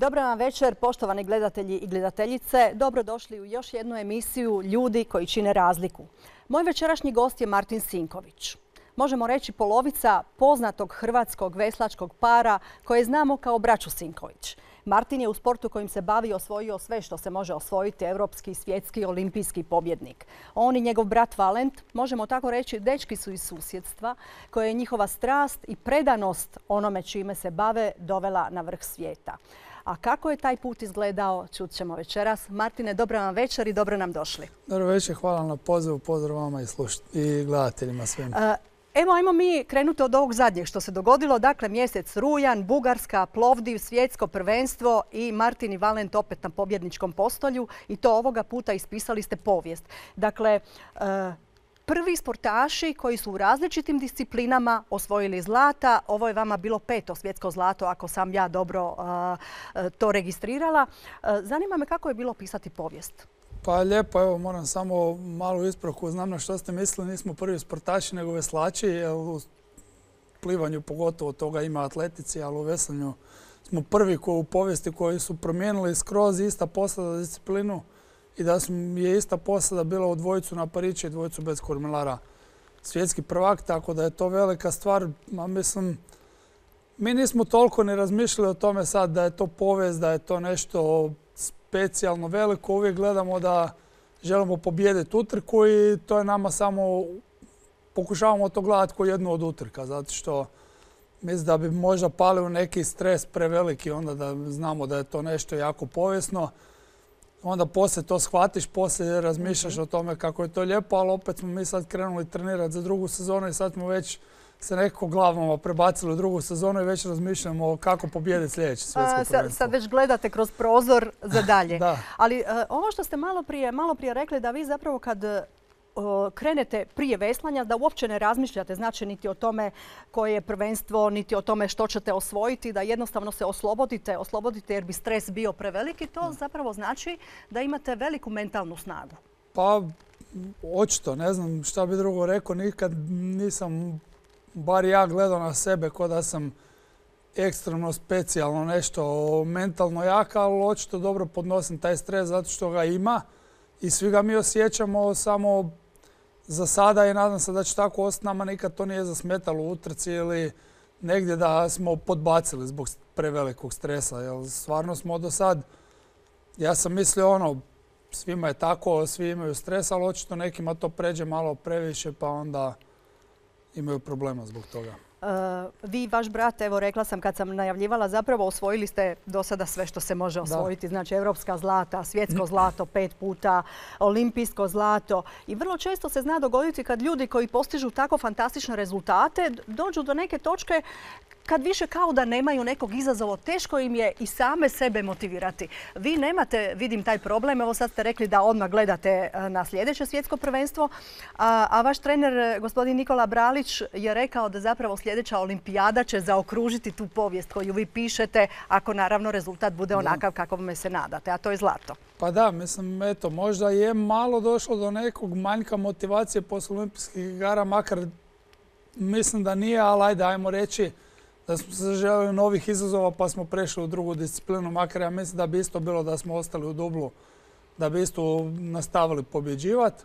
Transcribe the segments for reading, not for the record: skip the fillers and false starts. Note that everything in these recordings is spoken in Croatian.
Dobar vam večer, poštovani gledatelji i gledateljice. Dobrodošli u još jednu emisiju Ljudi koji čine razliku. Moj večerašnji gost je Martin Sinković. Možemo reći polovica poznatog hrvatskog veslačkog para koje znamo kao braću Sinković. Martin je u sportu kojim se bavi osvojio sve što se može osvojiti, europski, svjetski, olimpijski pobjednik. On i njegov brat Valent, možemo tako reći, dečki su iz susjedstva koje je njihova strast i predanost onome čime se bave dovela na vrh svijeta. A kako je taj put izgledao, čut ćemo večeras. Martine, dobro vam večer i dobro nam došli. Dobro večer, hvala na pozivu, pozdrav vama i gledateljima svim. Evo, ajmo mi krenuti od ovog zadnjeg što se dogodilo. Dakle, mjesec rujan, Bugarska, Plovdiv, svjetsko prvenstvo i Martin i Valent opet na pobjedničkom postolju. I to ovoga puta ispisali ste povijest. Dakle, prvi sportaši koji su u različitim disciplinama osvojili zlata. Ovo je vama bilo 5. svjetsko zlato, ako sam ja dobro to registrirala. Zanima me kako je bilo pisati povijest. Pa lijepo, evo moram samo malu ispravku. Znam na što ste mislili, nismo prvi sportaši nego veslači. Jer u plivanju pogotovo toga ima atletici, ali u veslanju smo prvi u povijesti koji su promijenili skroz ista posada disciplinu i da je ista posada bila u dvojicu na pariće i dvojicu bez kormilara svjetski prvak, tako da je to velika stvar. Mislim, mi nismo toliko ni razmišljali o tome sad da je to povijest, da je to nešto specijalno veliko. Uvijek gledamo da želimo pobijediti utrku i to je nama samo, pokušavamo to gledati kao jednu od utrka, zato što mislim da bi možda pali u neki stres preveliki, onda da znamo da je to nešto jako povijesno. Onda poslije to shvatiš, poslije razmišljaš o tome kako je to lijepo, ali opet smo mi sad krenuli trenirati za drugu sezonu i sad smo već se nekako glavama prebacili u drugu sezonu i već razmišljamo kako pobijediti sljedeće svjetsko prvenstvo. Sad već gledate kroz prozor za dalje. Da. Ali ovo što ste malo prije rekli, da vi zapravo kad krenete prije veslanja, da uopće ne razmišljate, znači niti o tome koje je prvenstvo, niti o tome što ćete osvojiti, da jednostavno se oslobodite jer bi stres bio preveliki, to zapravo znači da imate veliku mentalnu snagu. Pa, očito, ne znam šta bi drugo rekao, nikad nisam, bar ja gledao na sebe kao da sam ekstremno specijalno nešto mentalno jaka, ali očito dobro podnosim taj stres zato što ga ima i svi ga mi osjećamo, samo za sada i nadam se da će tako ostati. Nama nikad to nije zasmetalo u utrci ili negdje da smo podbacili zbog prevelikog stresa. Jer stvarno smo do sad, ja sam mislio svima je tako, svi imaju stres, ali očito nekima to pređe malo previše pa onda imaju problema zbog toga. Vi i vaš brat, evo rekla sam kad sam najavljivala, zapravo osvojili ste do sada sve što se može osvojiti. Znači europska zlata, svjetsko zlato 5 puta, olimpijsko zlato. I vrlo često se zna dogoditi kad ljudi koji postižu tako fantastične rezultate dođu do neke točke kad više kao da nemaju nekog izazova, teško im je i same sebe motivirati. Vi nemate, vidim, taj problem. Evo sad ste rekli da odmah gledate na sljedeće svjetsko prvenstvo, a vaš trener, gospodin Nikola Bralić, je rekao da zapravo sljedeća olimpijada će zaokružiti tu povijest koju vi pišete, ako naravno rezultat bude onakav kakvome se nadate, a to je zlato. Pa da, mislim, eto, možda je malo došlo do nekog manjka motivacije poslije olimpijskih igara, makar mislim da nije, ali ajde, ajmo reći da smo se željeli novih izazova pa smo prešli u drugu disciplinu, makar ja mislim da bi isto bilo da smo ostali u dublu, da bi isto nastavili pobjeđivati.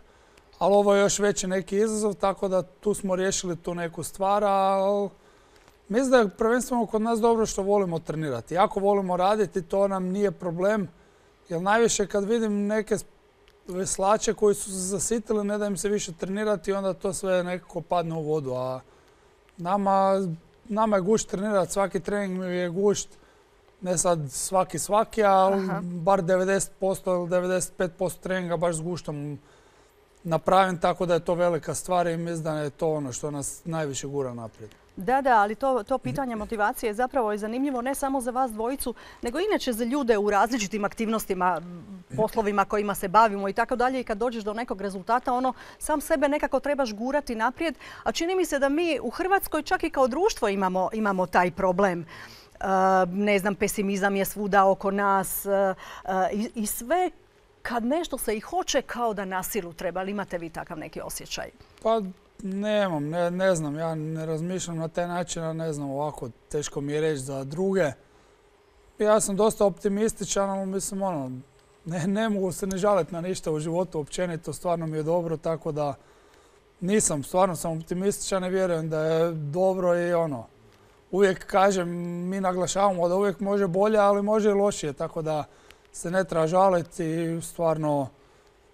Ali ovo je još veći neki izazov, tako da tu smo riješili tu neku stvar, ali mislim da je prvenstveno kod nas dobro što volimo trenirati. Jako volimo raditi, to nam nije problem, jer najviše kad vidim neke veslače koji su se zasitili, ne da im se više trenirati, onda to sve nekako padne u vodu. A nama je gušt trenirati, svaki trening mi je gušt, ne sad svaki, ali bar 90% ili 95% treninga baš s guštom napravim, tako da je to velika stvar i mislim da je to ono što nas najviše gura naprijed. Da, ali to pitanje motivacije je zapravo i zanimljivo ne samo za vas dvojicu, nego inače za ljude u različitim aktivnostima, poslovima kojima se bavimo i tako dalje. I kad dođeš do nekog rezultata, sam sebe nekako trebaš gurati naprijed. A čini mi se da mi u Hrvatskoj čak i kao društvo imamo taj problem. Ne znam, pesimizam je svuda oko nas i sve kad nešto se i hoće kao da na silu treba. Ali imate vi takav neki osjećaj? Pa nemam, ne znam, ja ne razmišljam na taj način, ne znam, ovako teško mi je reći za druge. Ja sam dosta optimističan, ali mislim, ne mogu se ne žaliti na ništa u životu općenito, stvarno mi je dobro, tako da stvarno sam optimističan i vjerujem da je dobro i uvijek kažem, mi naglašavamo da uvijek može bolje, ali može i lošije, tako da se ne treba žaliti i stvarno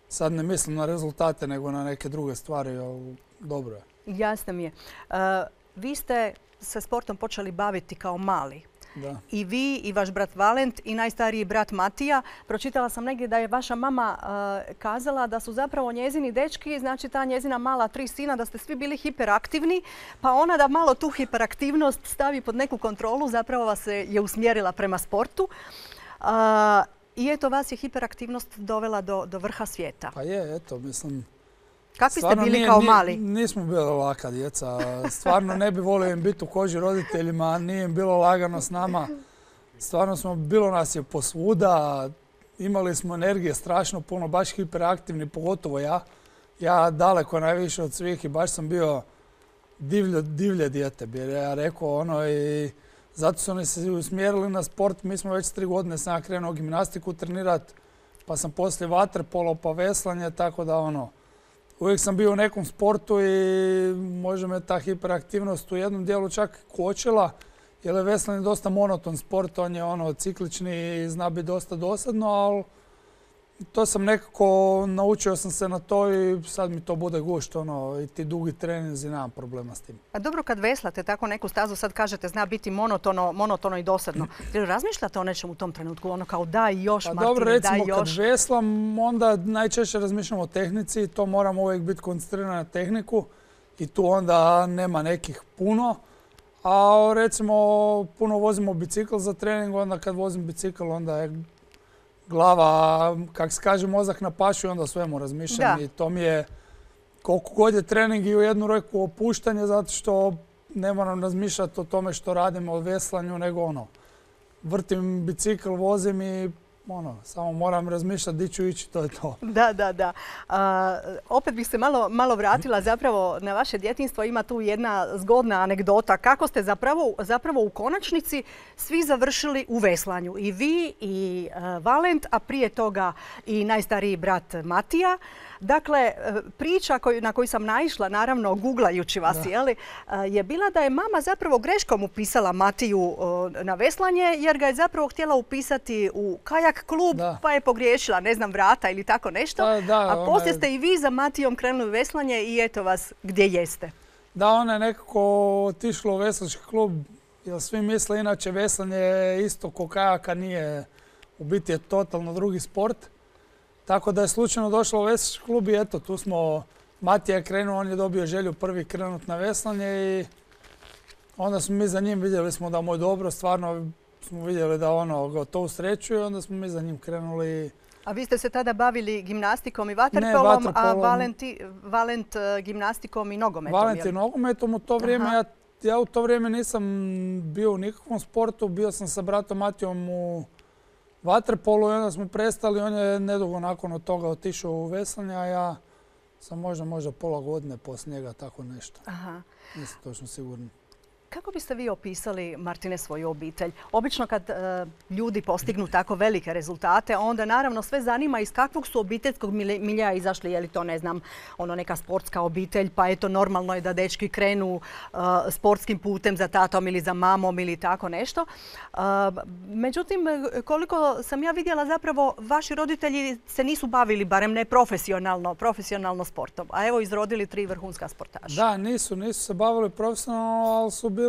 sad ne mislim na rezultate nego na neke druge stvari, ali dobro je. Jasno mi je. Vi ste se sportom počeli baviti kao mali. Da. I vi i vaš brat Valent i najstariji brat Matija. Pročitala sam negdje da je vaša mama kazala da su zapravo njezini dečki, znači ta njezina mala 3 sina, da ste svi bili hiperaktivni, pa ona da malo tu hiperaktivnost stavi pod neku kontrolu, zapravo vas je usmjerila prema sportu. I eto, vas je hiperaktivnost dovela do vrha svijeta. Pa je, eto, mislim... Kakvi ste bili kao mali? Nismo bili laka djeca. Stvarno ne bi volio im biti u koži roditeljima, nije im bilo lagano s nama. Stvarno bilo nas je posvuda, imali smo energije strašno puno, baš hiperaktivni, pogotovo ja. Ja daleko najviše od svih i baš sam bio divlje dijete, bi ja rekao, i zato su oni se usmjerili na sport. Mi smo već 3 godine sam krenuo gimnastiku trenirati, pa sam poslije vaterpolo pa veslanje, tako da uvijek sam bio u nekom sportu i možda me ta hiperaktivnost u jednom dijelu čak kočila, jer je veslanje dosta monoton sport, on je ciklični i zna biti dosta dosadno, ali to sam nekako, naučio sam se na to i sad mi to bude gušt, i ti dugi treninzi, nemam problema s tim. A dobro, kad veslate tako neku stazu, sad kažete zna biti monotono i dosadno. Jel razmišljate o nečem u tom trenutku, kao daj još, Martine, dobro, daj još? recimo kad veslam, onda najčešće razmišljam o tehnici, to moram uvijek biti koncentriran na tehniku i tu onda nema nekih puno. A recimo puno vozimo bicikl za trening, onda kad vozim bicikl onda je glava, kak se kaže, mozak na pašu i onda svemu razmišljam. I to mi je, koliko god je trening i u jednu ruku opuštanje, zato što ne moram razmišljati o tome što radim, o veslanju, nego vrtim bicikl, vozim i samo moram razmišljati di ću ići, to je to. Da. Opet bih se malo vratila zapravo na vaše djetinjstvo. Ima tu jedna zgodna anegdota. Kako ste zapravo u konačnici svi završili u veslanju. I vi i Valent, a prije toga i najstariji brat Matija. Dakle, priča na koju sam naišla, naravno, googlajući vas, je bila da je mama zapravo greškom upisala Matiju na veslanje, jer ga je zapravo htjela upisati u kajak klub, pa je pogriješila, ne znam, vrata ili tako nešto. A poslije ste i vi za Matijom krenuli u veslanje i eto vas gdje jeste. Da, ona je nekako otišla u veslački klub, jer svi misle inače veslanje je isto ko kajaka, nije, u biti je totalno drugi sport. Tako da je slučajno došla u veslački klub i eto, tu smo, Matija je krenuo, on je dobio želju prvi krenut na veslanje i onda smo mi za njim vidjeli smo da mu je dobro, stvarno smo vidjeli da ga to usrećuje i onda smo mi za njim krenuli. A vi ste se tada bavili gimnastikom i vaterpolom, a Valent gimnastikom i nogometom? Valent i nogometom u to vrijeme, ja u to vrijeme nisam bio u nikakvom sportu, bio sam sa bratom Matijom u vaterpolu i onda smo prestali, on je nedugo nakon od toga otišao u veslanje, a ja sam možda pola godine poslije njega, tako nešto. Nisam točno sigurno. Kako biste vi opisali, Martine, svoju obitelj? Obično kad ljudi postignu tako velike rezultate, onda naravno sve zanima iz kakvog su obiteljskog miljeja izašli. Je li to, ne znam, neka sportska obitelj, pa eto normalno je da dečki krenu sportskim putem za tatom ili za mamom ili tako nešto. Međutim, koliko sam ja vidjela, zapravo vaši roditelji se nisu bavili, barem ne profesionalno sportom. A evo izrodili 3 vrhunska sportaša. Da, nisu se bavili profesionalno, ali su bili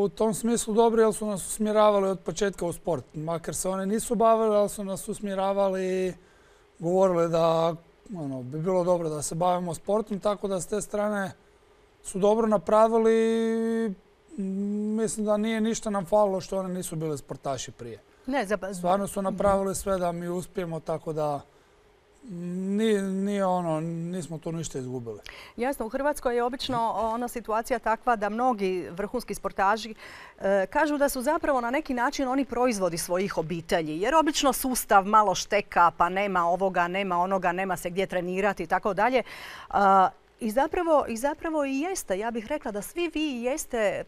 u tom smislu dobri, jer su nas usmjeravali od početka u sport. Makar se oni nisu bavili, ali su nas usmjeravali i govorili da bi bilo dobro da se bavimo sportom, tako da s te strane su dobro napravili. Mislim da nije ništa nam falilo što oni nisu bili sportaši prije. Stvarno su napravili sve da mi uspijemo, tako da nismo tu ništa izgubili. Jasno, u Hrvatskoj je obično situacija takva da mnogi vrhunski sportaši kažu da su zapravo na neki način oni proizvodi svojih obitelji. Jer obično sustav malo šteka, pa nema ovoga, nema onoga, nema se gdje trenirati i tako dalje. I zapravo i jeste. Ja bih rekla da svi vi jeste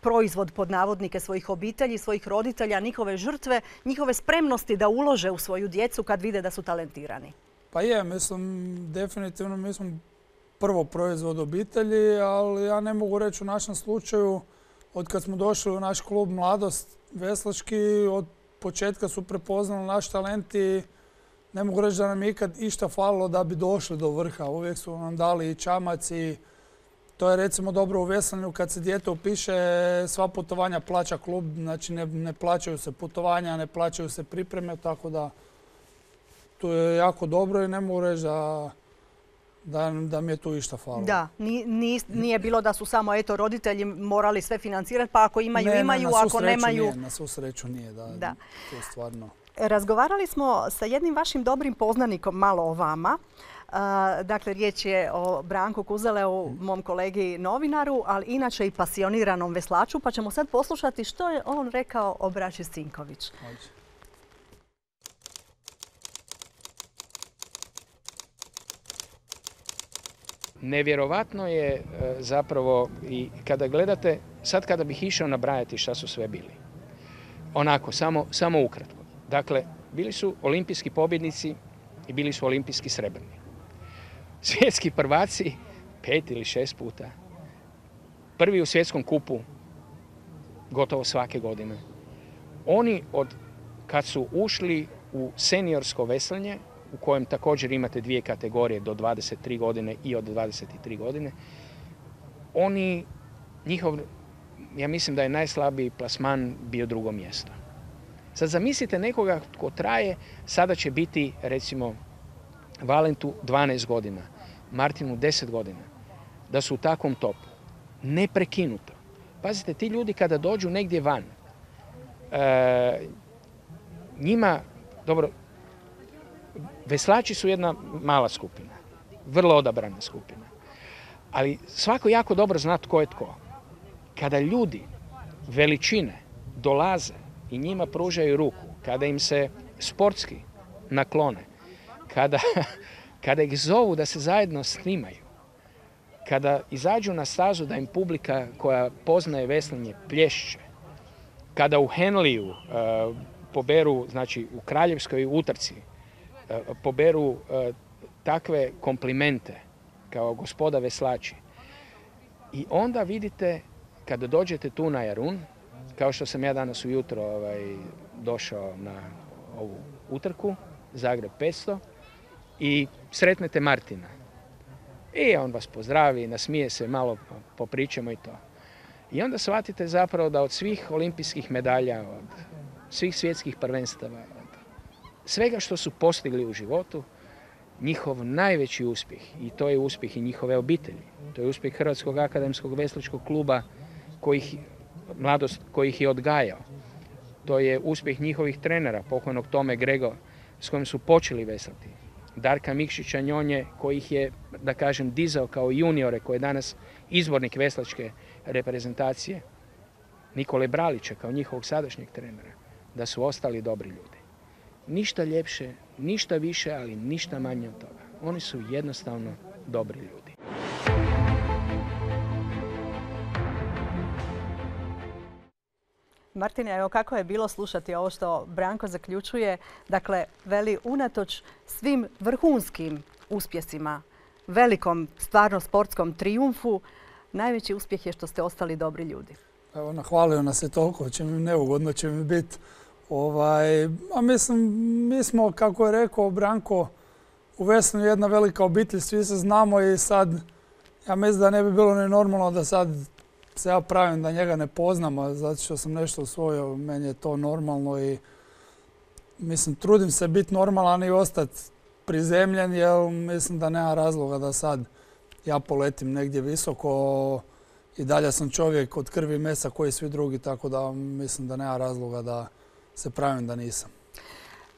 proizvod pod navodnike svojih obitelji, svojih roditelja, njihove žrtve, njihove spremnosti da ulože u svoju djecu kad vide da su talentirani. Pa je, mislim, definitivno mi smo prvo proizvod obitelji, ali ja ne mogu reći u našem slučaju, od kad smo došli u naš klub Mladost veslački, od početka su prepoznali naš talent i ne mogu reći da nam je ikad išta falilo da bi došli do vrha. Uvijek su nam dali i čamac i to je recimo dobro u veslanju kad se dijete upiše, sva putovanja plaća klub, znači ne plaćaju se putovanja, ne plaćaju se pripreme, tako da to je jako dobro i ne mogu reći da mi je tu išta falilo. Da, nije bilo da su samo roditelji morali sve financirati, pa ako imaju, ako nemaju... Na svu sreću nije, da. To je stvarno... Razgovarali smo sa jednim vašim dobrim poznanikom malo o vama. Dakle, riječ je o Branku Kuzeleu, mom kolegi novinaru, ali inače i pasioniranom veslaču, pa ćemo sad poslušati što je on rekao o braći Sinković. Nevjerovatno je zapravo i kada gledate, sad kada bih išao nabrajati šta su sve bili. Onako, samo ukratko. Dakle, bili su olimpijski pobjednici i bili su olimpijski srebrni. Svjetski prvaci 5 ili 6 puta. Prvi u svjetskom kupu gotovo svake godine. Oni kad su ušli u seniorsko veslanje, u kojem također imate 2 kategorije do 23 godine i od 23 godine, ja mislim da je najslabiji plasman bio 2. mjesto. Sad zamislite nekoga tko traje, sada će biti recimo Valentu 12 godina, Martinu 10 godina, da su u takvom topu. Neprekinuto. Pazite, ti ljudi kada dođu negdje van, njima, dobro, veslači su jedna mala skupina, vrlo odabrana skupina, ali svako jako dobro zna tko je tko. Kada ljudi veličine dolaze i njima pružaju ruku, kada im se sportski naklone, kada ih zovu da se zajedno snimaju, kada izađu na stazu da im publika koja poznaje veslanje plješće, kada u Henliju poberu, znači u kraljevskoj utrci, poberu takve komplimente kao gospoda veslači. I onda vidite, kada dođete tu na Jarun, kao što sam ja danas ujutro došao na ovu utrku, Zagreb 500, i sretnete Martina. I on vas pozdravi, nasmije se, malo popričamo i to. I onda shvatite zapravo da od svih olimpijskih medalja, od svih svjetskih prvenstava, od svega što su postigli u životu, njihov najveći uspjeh, i to je uspjeh i njihove obitelji, to je uspjeh Hrvatskog akademskog veslačkog kluba Mladost koji ih je odgajao. To je uspjeh njihovih trenera, pokojnog Tome Grego, s kojim su počeli veslati. Darka Mikšića Njonje, koji ih je, da kažem, dizao kao juniore, koji je danas izbornik veslačke reprezentacije. Nikole Bralića, kao njihovog sadašnjeg trenera, da su ostali dobri ljudi. Ništa ljepše, ništa više, ali ništa manje od toga. Oni su jednostavno dobri ljudi. Martine, evo kako je bilo slušati ovo što Branko zaključuje. Dakle, veli, unatoč svim vrhunskim uspjesima, velikom stvarno sportskom trijumfu, najveći uspjeh je što ste ostali dobri ljudi. Evo, nahvalio nas je toliko, neugodno će mi biti. A mislim, mi smo, kako je rekao Branko, u veslanju jedna velika obitelj, svi se znamo i sad, ja mislim da ne bi bilo ni normalno da sad se ja pravim da njega ne poznam, zato što sam nešto usvojio, meni je to normalno i mislim, trudim se biti normalan i ostati prizemljen, jer mislim da nema razloga da sad ja poletim negdje visoko. I dalje sam čovjek od krvi i mesa koji svi drugi, tako da mislim da nema razloga da se pravim da nisam.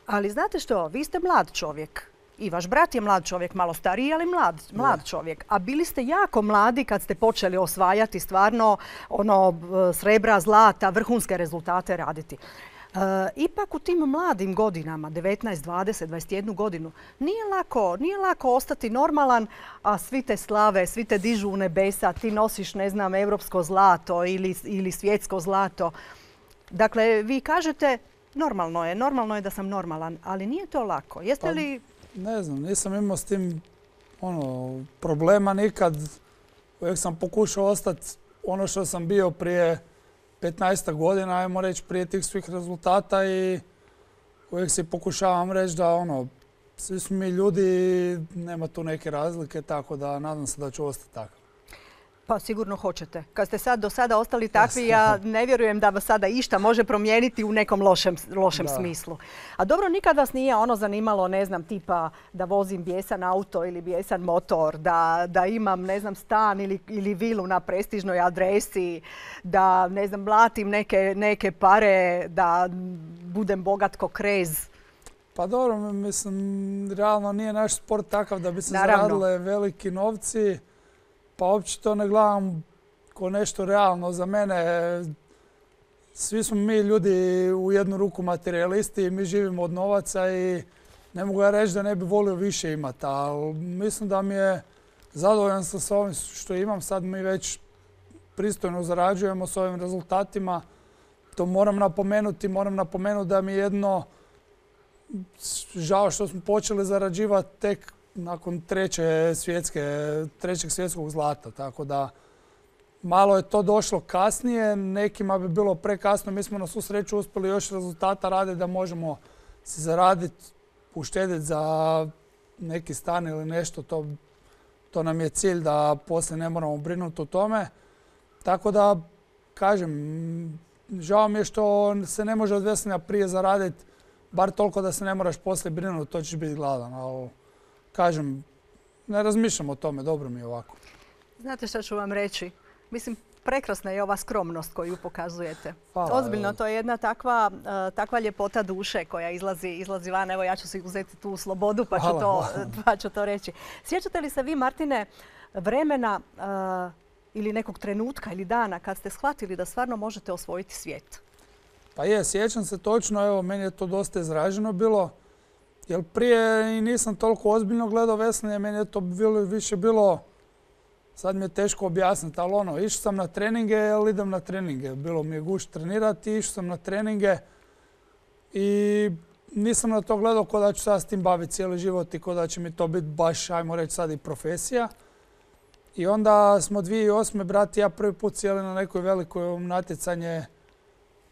Ali znate što, vi ste mlad čovjek. I vaš brat je mlad čovjek, malo stariji, ali mlad čovjek. A bili ste jako mladi kad ste počeli osvajati stvarno srebra, zlata, vrhunske rezultate raditi. Ipak u tim mladim godinama, 19, 20, 21 godinu, nije lako ostati normalan, a svi te slave, svi te dižu u nebesa, ti nosiš, ne znam, europsko zlato ili svjetsko zlato. Dakle, vi kažete normalno je da sam normalan, ali nije to lako. Jeste li... Ne znam, nisam imao s tim problema nikad. Uvijek sam pokušao ostati ono što sam bio prije 15 godina, ajmo reći, prije tih svih rezultata i uvijek si pokušavam reći da svi smo mi ljudi, nema tu neke razlike, tako da nadam se da ću ostati takav. Pa sigurno hoćete. Kad ste do sada ostali takvi, ja ne vjerujem da vas sada išta može promijeniti u nekom lošem smislu. A dobro, nikad vas nije zanimalo, ne znam, tipa da vozim bijesan auto ili bijesan motor, da imam, ne znam, stan ili vilu na prestižnoj adresi, da, ne znam, mlatim neke pare, da budem bogat ko krez. Pa dobro, mislim, realno nije naš sport takav da bi se zaradile veliki novci. Pa uopće to ne gledam ko nešto realno. Za mene svi smo mi ljudi u jednu ruku materijalisti i mi živimo od novaca i ne mogu ja reći da ne bi volio više imati. Ali mislim da mi je zadovoljan sa ovim što imam. Sad mi već pristojno zarađujemo s ovim rezultatima. To moram napomenuti da mi je jedno žao što smo počeli zarađivati tek nakon trećeg svjetskog zlata. Tako da malo je to došlo kasnije, nekima bi bilo prekasno. Mi smo na svu sreću uspjeli još rezultata raditi da možemo se zaraditi, uštediti za neki stan ili nešto. To nam je cilj da poslije ne moramo brinuti o tome. Tako da, kažem, žao mi je što se ne može od veslanja prije zaraditi, bar toliko da se ne moraš poslije brinuti, to ćeš biti gladan. Ali, kažem, ne razmišljam o tome, dobro mi je ovako. Znate što ću vam reći? Mislim, prekrasna je ova skromnost koju pokazujete. Hvala, ozbiljno, to je jedna takva ljepota duše koja izlazi van. Evo, ja ću si uzeti tu slobodu pa ću to reći. Sjećate li se vi, Martine, vremena ili nekog trenutka ili dana kad ste shvatili da stvarno možete osvojiti svijet? Pa sjećam se točno, evo, meni je to dosta izraženo bilo. Jer prije i nisam toliko ozbiljno gledao veslanje, meni je to više bilo, sad mi je teško objasniti, ali išao sam na treninge jer idem na treninge. Bilo mi je gušt trenirati, išao sam na treninge i nisam na to gledao ko da ću sad s tim baviti cijeli život i ko da će mi to biti baš, ajmo reći sad, i profesija. I onda smo 2008. brat i ja prvi put sjeli na nekoj velikoj natjecanje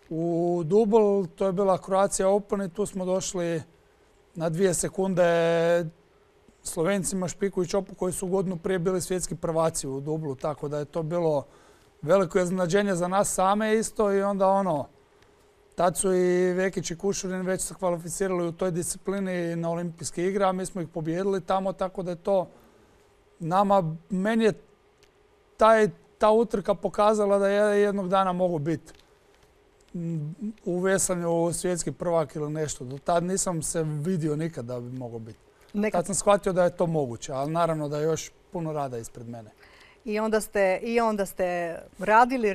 u Dubl, to je bila Croatia Open i tu smo došli na 2 sekunde Slovencima Špiku i Čopu koji su godinu prije bili svjetski prvaci u Dublu, tako da je to bilo veliko iznenađenje za nas same isto i onda tad su i Vekić i Kušurin već se kvalificirali u toj disciplini na olimpijske igre, a mi smo ih pobijedili tamo, tako da je to meni je ta utrka pokazala da je jednog dana mogu biti u veslanju svjetski prvak ili nešto. Do tad nisam se vidio nikad da bi mogao biti. Tad sam shvatio da je to moguće, ali naravno da je još puno rada ispred mene. I onda ste radili.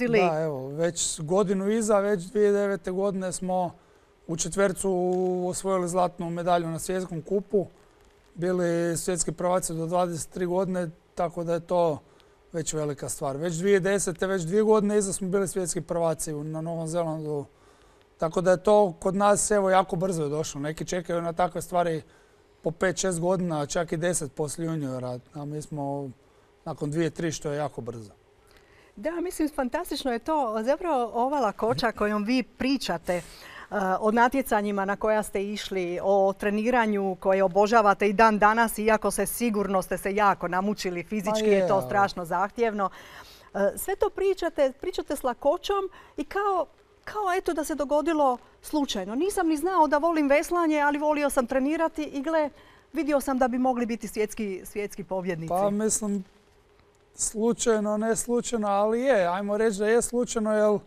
Da, evo, već godinu iza, već 2009. godine smo u četvercu osvojili zlatnu medalju na svjetskom kupu. Bili svjetski prvaci do 23 godine, tako da je to već velika stvar. Već 2010. već 2 godine iza smo bili svjetski prvaci na Novom Zelandu. Tako da je to kod nas jako brzo je došlo. Neki čekaju na takve stvari po 5-6 godina, čak i 10 poslije juniora. A mi smo nakon 2-3 što je jako brzo. Da, mislim, fantastično je to. Zapravo ova lakoća kojom vi pričate o natjecanjima na koja ste išli, o treniranju koje obožavate i dan danas, iako sigurno ste se jako namučili, fizički je to strašno zahtjevno. Sve to pričate s lakoćom i kao eto da se dogodilo slučajno. Nisam ni znao da volim veslanje, ali volio sam trenirati i vidio sam da bi mogli biti svjetski pobjednici. Pa mislim, slučajno, ne slučajno, ali ajmo reći da je slučajno, jer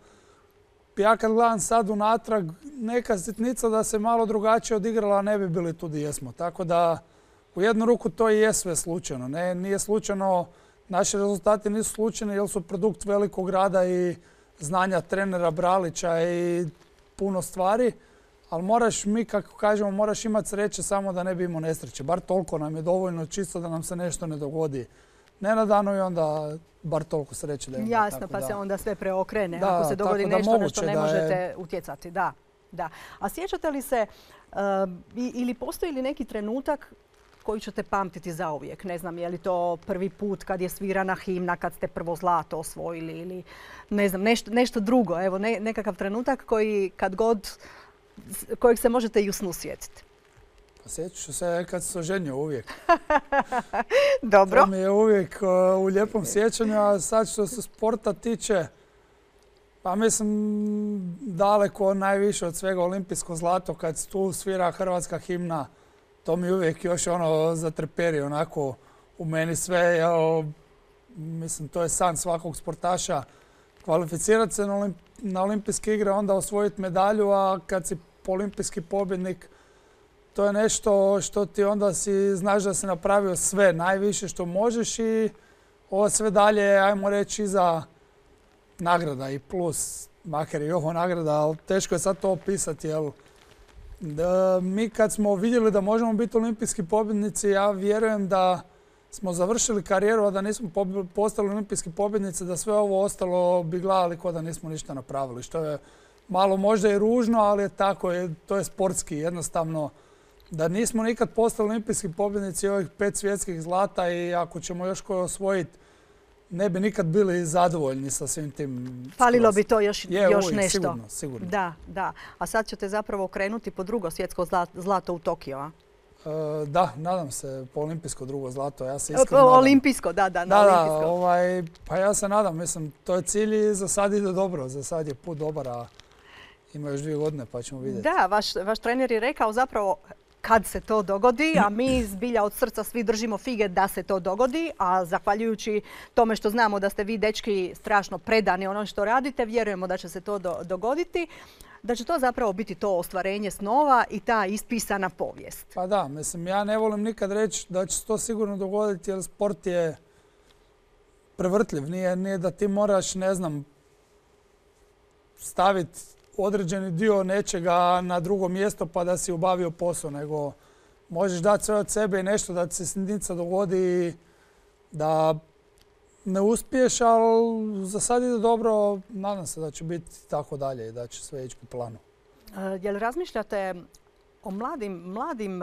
ja kad gledam sad unatrag, neka sitnica da se malo drugačije odigrala, ne bi bili tu gdje jesmo. Tako da u jednu ruku to i je sve slučajno. Nije slučajno, naši rezultati nisu slučajni jer su produkt velikog rada i znanja trenera Bralića i puno stvari, ali moraš, mi kako kažemo, moraš imati sreće samo da ne bi imao nesreće. Bar toliko nam je dovoljno čisto da nam se nešto ne dogodi nenadano i onda bar toliko sreće da imamo. Jasno, pa se onda sve preokrene. Da, ako se dogodi nešto na što ne možete je... utjecati. Da, da. A sjećate li se ili postoji li neki trenutak koji ćete pamtiti zauvijek? Ne znam, je li to prvi put kad je svirana himna, kad ste prvo zlato osvojili ili ne znam, nešto drugo. Evo, nekakav trenutak koji kad god, kojeg se možete i u snu sjetiti. Sjećat ću se kad se oženio uvijek. Dobro. To mi je uvijek u lijepom sjećanju, a sad što se sporta tiče, pa mislim daleko najviše od svega olimpijsko zlato kad tu svira hrvatska himna. To mi uvijek još zatreperi onako u meni sve. Mislim, to je san svakog sportaša. Kvalificirati se na olimpijske igre, onda osvojiti medalju, a kad si olimpijski pobjednik, to je nešto što ti onda znaš da si napravio sve, najviše što možeš i ovo sve dalje, ajmo reći, iza nagrada i plus, makar i ovo nagrada, ali teško je sad to opisati, jer mi kad smo vidjeli da možemo biti olimpijski pobjednici, ja vjerujem da smo završili karijeru, a da nismo postali olimpijski pobjednici, da sve ovo ostalo bi gledali kao da nismo ništa napravili, što je malo možda i ružno, ali je tako, to je sportski jednostavno. Da nismo nikad postali olimpijski pobjednici ovih 5 svjetskih zlata i ako ćemo još koje osvojiti, ne bi nikad bili zadovoljni sa svim tim. Falilo bi to još nešto. Sigurno. Da, da. A sad ćete zapravo krenuti po drugo svjetsko zlato u Tokio, a? Da, nadam se po olimpijsko drugo zlato. Ja se iskreno nadam. Olimpijsko, da, na olimpijsko. Pa ja se nadam, mislim, to je cilj i za sad ide dobro. Za sad je put dobar, a ima još 2 godine pa ćemo vidjeti. Da, vaš trener je rekao zapravo kad se to dogodi, a mi zbilja od srca svi držimo fige da se to dogodi, a zahvaljujući tome što znamo da ste vi dečki strašno predani ono što radite, vjerujemo da će se to dogoditi, da će to zapravo biti to ostvarenje snova i ta ispisana povijest. Pa da, mislim, ja ne volim nikad reći da će se to sigurno dogoditi jer sport je prevrtljiv. Nije da ti moraš, ne znam, staviti određeni dio nečega na drugo mjesto pa da si obavio posao, nego možeš dati sve od sebe i nešto da ti se sitnica dogodi da ne uspiješ, ali za sad ide dobro, nadam se da će biti tako dalje i da će sve ići po planu. Jel razmišljate o mladim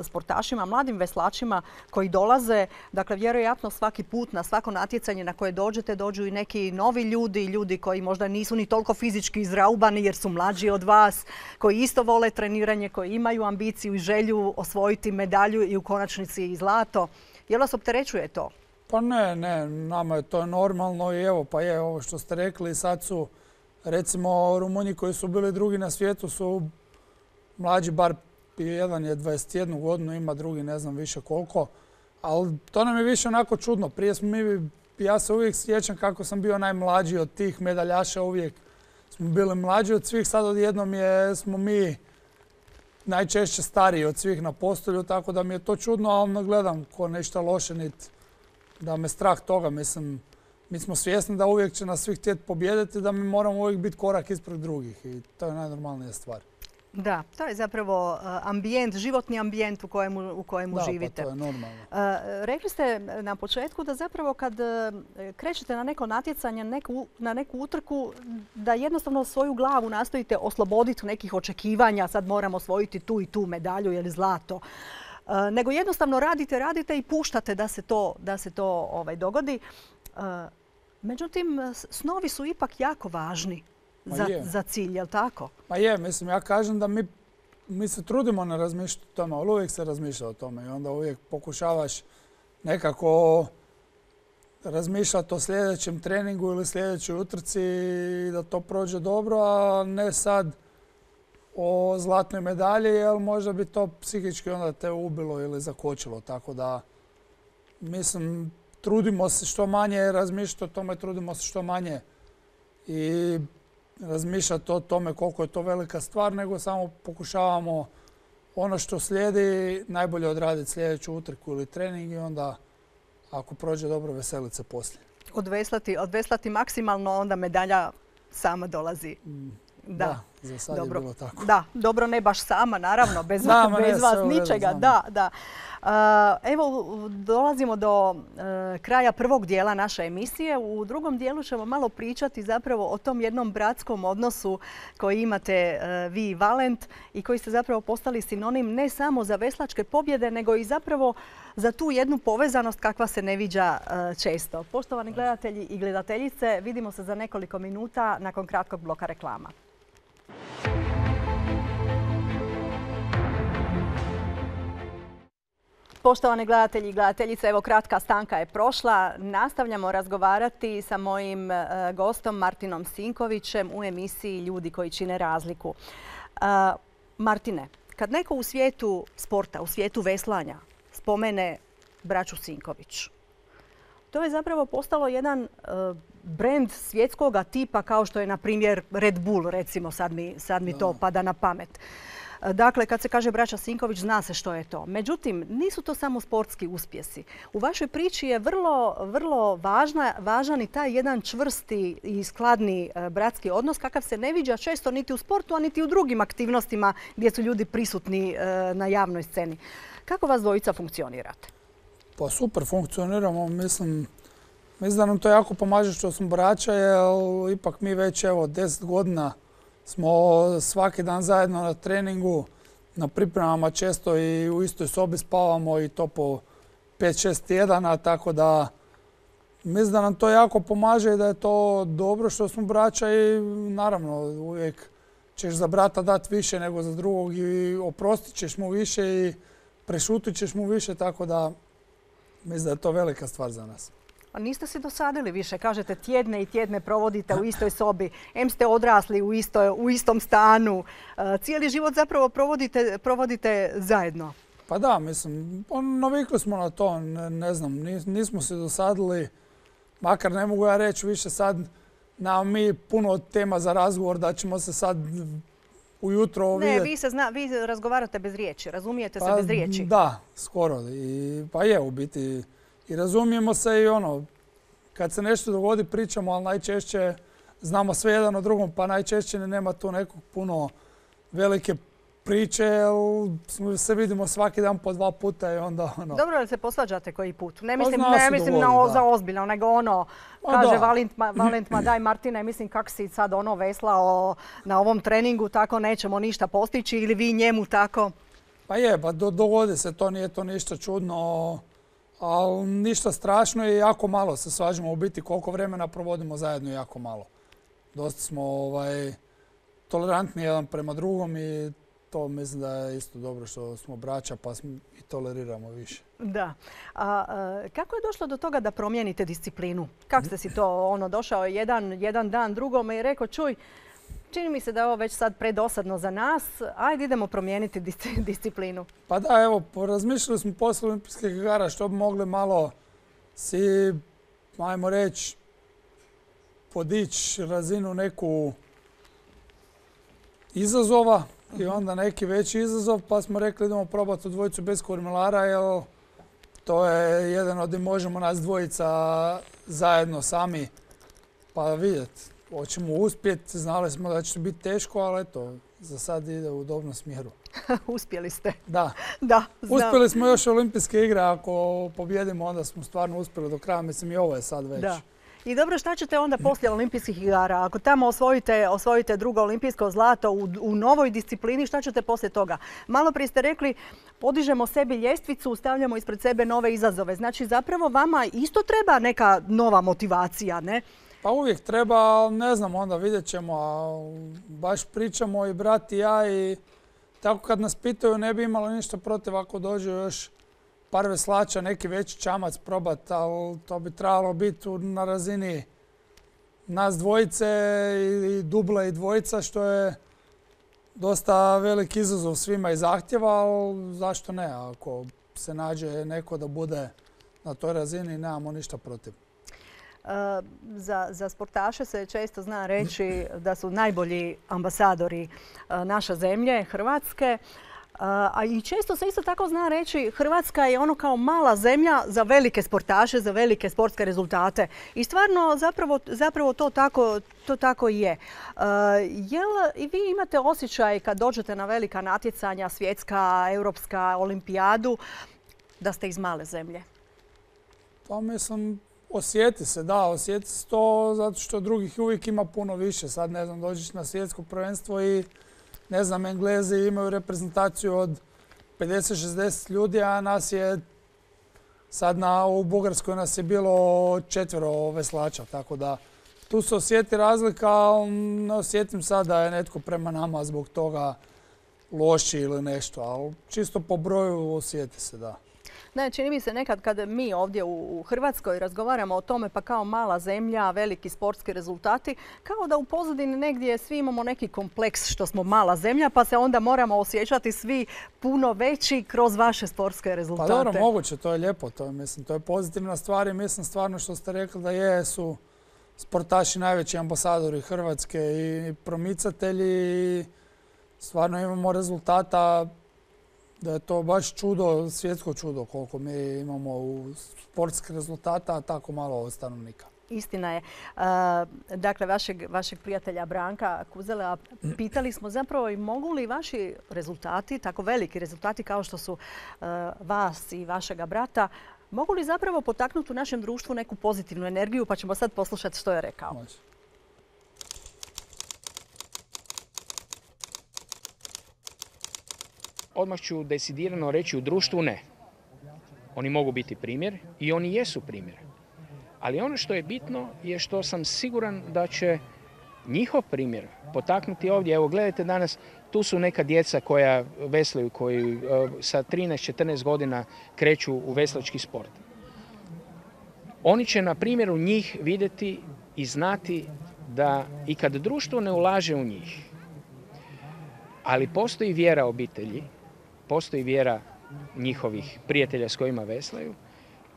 sportašima, mladim veslačima koji dolaze, dakle vjerojatno svaki put na svako natjecanje na koje dođete dođu i neki novi ljudi koji možda nisu ni toliko fizički izraubani jer su mlađi od vas, koji isto vole treniranje, koji imaju ambiciju i želju osvojiti medalju i u konačnici i zlato. Jel vas opterećuje to? Pa ne, nama je to normalno i evo pa je ovo što ste rekli, sad su recimo Rumunji koji su bili drugi na svijetu su mlađi, bar jedan je 21 godinu, ima drugi ne znam više koliko, ali to nam je više onako čudno. Prije smo ja se uvijek sjećam kako sam bio najmlađi od tih medaljaša, uvijek smo bili mlađi od svih, sad odjednom smo mi najčešće stariji od svih na postolju, tako da mi je to čudno, ali ne gledam ko nešto loše, niti da me strah toga, mislim, mi smo svjesni da uvijek će nas svih htjeti pobijediti, da mi moramo uvijek biti korak ispred drugih i to je najnormalnija stvar. Da, to je zapravo ambijent, životni ambijent u kojemu živite. Da, pa to je normalno. Rekli ste na početku da zapravo kad krećete na neko natjecanje, na neku utrku, da jednostavno svoju glavu nastojite osloboditi nekih očekivanja, sad moramo osvojiti tu i tu medalju ili zlato. Nego jednostavno radite i puštate da se to dogodi. Međutim, snovi su ipak jako važni za cilj, je li tako? Pa je, mislim, ja kažem da mi se trudimo ne razmišljati o tome, ali uvijek se razmišlja o tome i onda uvijek pokušavaš nekako razmišljati o sljedećem treningu ili sljedećoj utrci i da to prođe dobro, a ne sad o zlatnoj medalji, jer možda bi to psihički onda te ubilo ili zakočilo. Tako da, mislim, trudimo se što manje razmišljati o tome, trudimo se što manje i razmišljati o tome koliko je to velika stvar, nego samo pokušavamo ono što slijedi najbolje odraditi sljedeću utrku ili trening i onda ako prođe dobro veseliti se poslije. Odveslati maksimalno, onda medalja sama dolazi. Da, Za sad je bilo tako. Da, dobro, ne baš sama, naravno, bez vas ničega. Da. Evo, dolazimo do kraja prvog dijela naše emisije. U drugom dijelu ćemo malo pričati zapravo o tom jednom bratskom odnosu koji imate vi i Valent i koji ste zapravo postali sinonim ne samo za veslačke pobjede, nego i zapravo za tu jednu povezanost kakva se ne viđa često. Poštovani gledatelji i gledateljice, vidimo se za nekoliko minuta nakon kratkog bloka reklama. Poštovani gledatelji i gledateljice, evo kratka stanka je prošla. Nastavljamo razgovarati sa mojim gostom Martinom Sinkovićem u emisiji Ljudi koji čine razliku. Martine, kad neko u svijetu sporta, u svijetu veslanja spomene braću Sinković, to je zapravo postalo jedan brend svjetskog tipa kao što je na primjer Red Bull, recimo sad mi to pada na pamet. Dakle, kad se kaže braća Sinković, zna se što je to. Međutim, nisu to samo sportski uspjesi. U vašoj priči je vrlo važan i taj jedan čvrsti i skladni bratski odnos kakav se ne viđa često niti u sportu, a niti u drugim aktivnostima gdje su ljudi prisutni na javnoj sceni. Kako vas dvojica funkcionirate? Pa super funkcioniramo. Mislim da nam to jako pomaže što smo braća, jer ipak mi već 10 godina smo svaki dan zajedno na treningu, na pripremama često i u istoj sobi spavamo i to po 5-6 tjedana, tako da mislim da nam to jako pomaže i da je to dobro što smo braća i naravno uvijek ćeš za brata dati više nego za drugog i oprostit ćeš mu više i prešutit ćeš mu više, tako da mislim da je to velika stvar za nas. A niste se dosadili više, kažete tjedne i tjedne provodite u istoj sobi, em ste odrasli u istom stanu, cijeli život zapravo provodite zajedno. Pa da, mislim, navikli smo na to, ne znam, nismo se dosadili, makar ne mogu ja reći više sad, nemamo mi puno tema za razgovor da ćemo se sad ujutro vidjeti. Ne, vi razgovarate bez riječi, razumijete se bez riječi. Da, skoro, pa je u biti. I razumijemo se i kad se nešto dogodi pričamo, ali najčešće znamo sve jedan o drugom, pa najčešće nema tu nekog puno velike priče, jer se vidimo svaki dan po 2 puta i onda Dobro, ali se posvađate koji put? Ne mislim za ozbiljno, nego kaže Valent, ma daj Martine, mislim kak si sad veslao na ovom treningu, tako nećemo ništa postići, ili vi njemu tako? Pa je, pa dogodi se, to nije to ništa čudno. Ali ništa strašno i jako malo se svađamo. U biti koliko vremena provodimo zajedno, jako malo. Dosta smo tolerantni jedan prema drugom i to mislim da je isto dobro što smo braća pa i toleriramo više. Da. Kako je došlo do toga da promijenite disciplinu? Kako ste si to došao jedan dan drugome i rekao čuj, čini mi se da je ovo već sad predosadno za nas, ajde idemo promijeniti disciplinu. Pa da, evo, razmišljali smo poslije Olimpijskih igara što bi mogli malo si, ajmo reći, podići razinu neku izazova i onda neki veći izazov, pa smo rekli idemo probati u dvojicu bez kormilara, jer to je jedan od možemo nas dvojica zajedno sami pa vidjeti. Hoćemo uspjeti, znali smo da će biti teško, ali eto, za sad ide u dobrom smjeru. Uspjeli ste. Da. Da, znam. Uspjeli smo još Olimpijske igre, ako pobjedimo onda smo stvarno uspjeli do kraja, mislim i ovo je sad već. Da. I dobro, šta ćete onda poslije Olimpijskih igara? Ako tamo osvojite drugo olimpijsko zlato u novoj disciplini, šta ćete poslije toga? Malo prije ste rekli, podižemo sebi ljestvicu, stavljamo ispred sebe nove izazove. Znači zapravo vama isto treba neka nova motivacija, ne? Pa uvijek treba, ali ne znam, onda vidjet ćemo, baš pričamo i brat i ja i tako kad nas pitaju ne bi imalo ništa protiv ako dođe još par veslača, neki veći čamac probat, ali to bi trebalo biti na razini nas dvojice i dubla i dvojica, što je dosta velik izazov svima i zahtjeva, ali zašto ne, ako se nađe neko da bude na toj razini, nemamo ništa protiv. Za sportaše se često zna reći da su najbolji ambasadori naše zemlje, Hrvatske. A i često se isto tako zna reći Hrvatska je ono kao mala zemlja za velike sportaše, za velike sportske rezultate. I stvarno zapravo to tako i je. Jel i vi imate osjećaj kad dođete na velika natjecanja, svjetska, europska, olimpijadu, da ste iz male zemlje? Pa mislim, osjeti se to zato što drugih uvijek ima puno više. Sad ne znam, dođeš na svjetsko prvenstvo i ne znam, Englezi imaju reprezentaciju od 50-60 ljudi, a nas je sad u Bugarskoj nas je bilo 4 veslača, tako da tu se osjeti razlika, ali ne osjetim sad da je netko prema nama zbog toga loši ili nešto, ali čisto po broju osjeti se, da. Ne, čini mi se nekad kad mi ovdje u Hrvatskoj razgovaramo o tome pa kao mala zemlja, veliki sportski rezultati, kao da u pozadini negdje svi imamo neki kompleks što smo mala zemlja pa se onda moramo osjećati svi puno veći kroz vaše sportske rezultate. Pa dobro, moguće, to je lijepo, to je pozitivna stvar i mislim stvarno što ste rekli da jesu sportaši najveći ambasadori Hrvatske i promicatelji i stvarno imamo rezultata. Da je to baš čudo, svjetsko čudo koliko mi imamo u sportskih rezultata, a tako malo stanovnika. Istina je. Dakle, vašeg prijatelja Branka Kuzela pitali smo zapravo i mogu li vaši rezultati, tako veliki rezultati kao što su vas i vašega brata, mogu li zapravo potaknuti u našem društvu neku pozitivnu energiju, pa ćemo sad poslušati što je rekao. Može. Odmah ću decidirano reći u društvu ne. Oni mogu biti primjer i oni jesu primjer. Ali ono što je bitno je što sam siguran da će njihov primjer potaknuti ovdje. Evo gledajte danas, tu su neka djeca koja veslaju, koji sa 13-14 godina kreću u veslački sport. Oni će na primjeru njih vidjeti i znati da i kad društvo ne ulaže u njih, ali postoji vjera obitelji, postoji vjera njihovih prijatelja s kojima veslaju,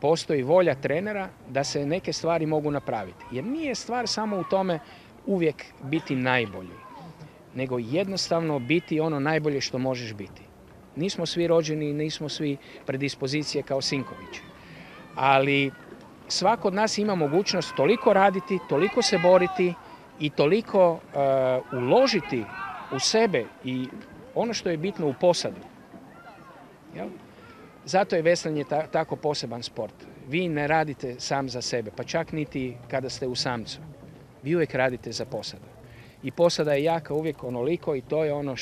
postoji volja trenera da se neke stvari mogu napraviti. Jer nije stvar samo u tome uvijek biti najbolji, nego jednostavno biti ono najbolje što možeš biti. Nismo svi rođeni, nismo svi predispozicije kao Sinković. Ali svako od nas ima mogućnost toliko raditi, toliko se boriti i toliko uložiti u sebe i ono što je bitno u posadu. Jel? Zato je veslanje tako poseban sport. Vi ne radite sam za sebe, pa čak niti kada ste u samcu. Vi uvijek radite za posadu. I posada je jaka uvijek onoliko i to je ono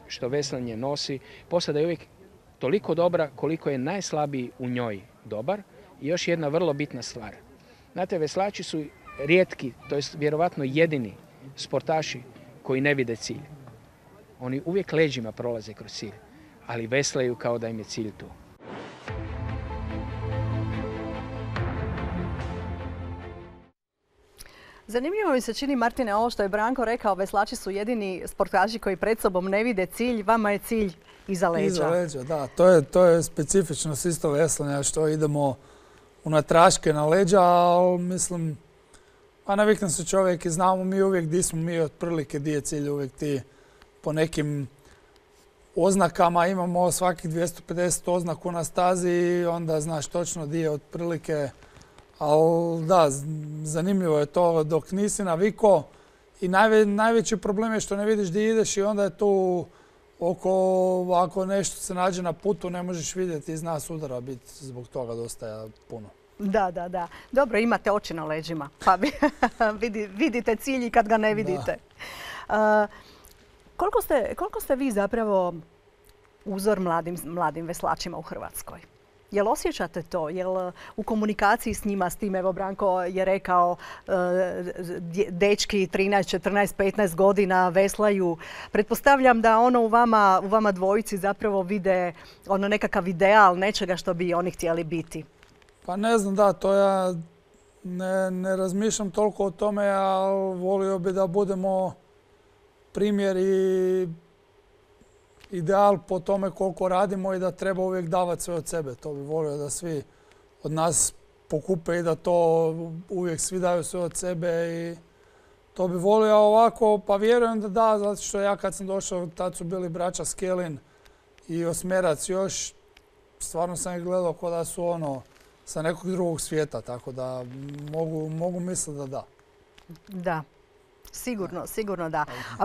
što veslanje nosi. Posada je uvijek toliko dobra koliko je najslabiji u njoj dobar. I još jedna vrlo bitna stvar. Znate, veslači su rijetki, to jest vjerovatno jedini sportaši koji ne vide cilj. Oni uvijek leđima prolaze kroz cilj, ali veslaju kao da im je cilj tu. Zanimljivo mi se čini, Martine, ovo što je Branko rekao, veslači su jedini sportaši koji pred sobom ne vide cilj, vama je cilj iza leđa. Iza leđa, da. To je specifičnost isto veslanja, što idemo unatraške na leđa, ali mislim, pa navikne se čovjek i znamo mi uvijek gdje smo mi otprilike, gdje je cilj uvijek ti po nekim oznakama imamo svakih 250 oznaku na stazi i onda znaš točno gdje je otprilike. Ali da, zanimljivo je to dok nisi navikao i najveći problem je što ne vidiš gdje ideš i onda je tu ako nešto se nađe na putu ne možeš vidjeti i zna sudara biti zbog toga dosta puno. Da. Dobro, imate oči na leđima, pa vidite cilj i kad ga ne vidite. Koliko ste vi zapravo uzor mladim veslačima u Hrvatskoj? Jel osjećate to? Jel u komunikaciji s njima, s tim, evo Branko je rekao, dečki 13, 14, 15 godina veslaju. Pretpostavljam da ono u vama dvojici zapravo vide ono nekakav ideal nečega što bi oni htjeli biti. Pa ne znam, da, to ja ne razmišljam toliko o tome, ali volio bi da budemo primjer i ideal po tome koliko radimo i da treba uvijek davati sve od sebe. To bi volio da svi od nas pokupe i da to uvijek svi daju sve od sebe i To bi volio ovako, pa vjerujem da da, zato što ja kad sam došao, tad su bili braća Skelin i Osmerac još, stvarno sam ih gledao kao da su sa nekog drugog svijeta, tako da mogu misliti da da. Da. Sigurno da. A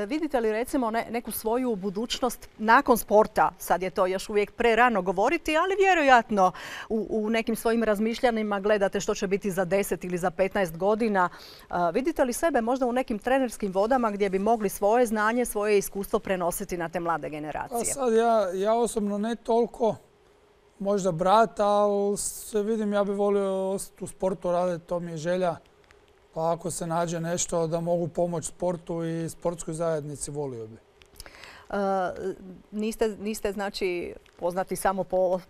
vidite li recimo neku svoju budućnost nakon sporta? Sad je to još uvijek prerano govoriti, ali vjerojatno u nekim svojim razmišljanjima gledate što će biti za 10 ili za 15 godina. Vidite li sebe možda u nekim trenerskim vodama gdje bi mogli svoje znanje, svoje iskustvo prenositi na te mlade generacije? A sad ja osobno ne toliko, možda brat, ali se vidim ja bih volio ostati u sportu raditi, to mi je želja. Pa ako se nađe nešto da mogu pomoći sportu i sportskoj zajednici, volio bi. Niste znači poznati samo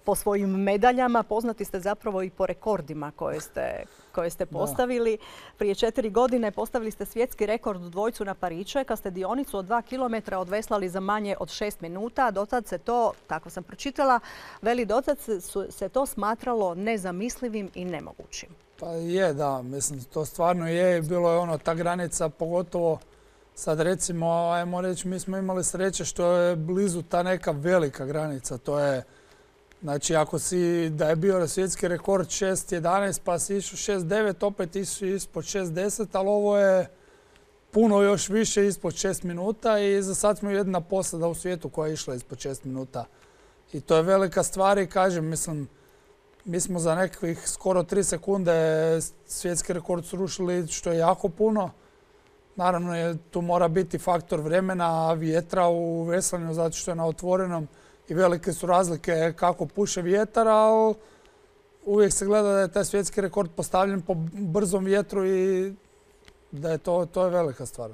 po svojim medaljama, poznati ste zapravo i po rekordima koje ste postavili. Prije 4 godine postavili ste svjetski rekord u dvojcu na Pariće kad ste dionicu od 2 km odveslali za manje od 6 minuta. Dotad se to, tako sam pročitala, dotad se to smatralo nezamislivim i nemogućim. Pa je, da. Mislim, to stvarno je. Bilo je ta granica, pogotovo sad recimo, ajmo reći, mi smo imali sreće što je blizu ta neka velika granica. To je, znači, da je bio svjetski rekord 6.11 pa si išao 6.9, opet išao ispod 6.10, ali ovo je puno još više ispod 6 minuta i za sad smo jedina posada u svijetu koja je išla ispod 6 minuta. I to je velika stvar i kažem, mislim, mi smo za nekakvih skoro 3 sekunde svjetski rekord srušili, što je jako puno. Naravno, tu mora biti faktor vremena, vjetra u veslanju, zato što je na otvorenom i velike su razlike kako puše vjetar, ali uvijek se gleda da je taj svjetski rekord postavljen po brzom vjetru i da je to je velika stvar.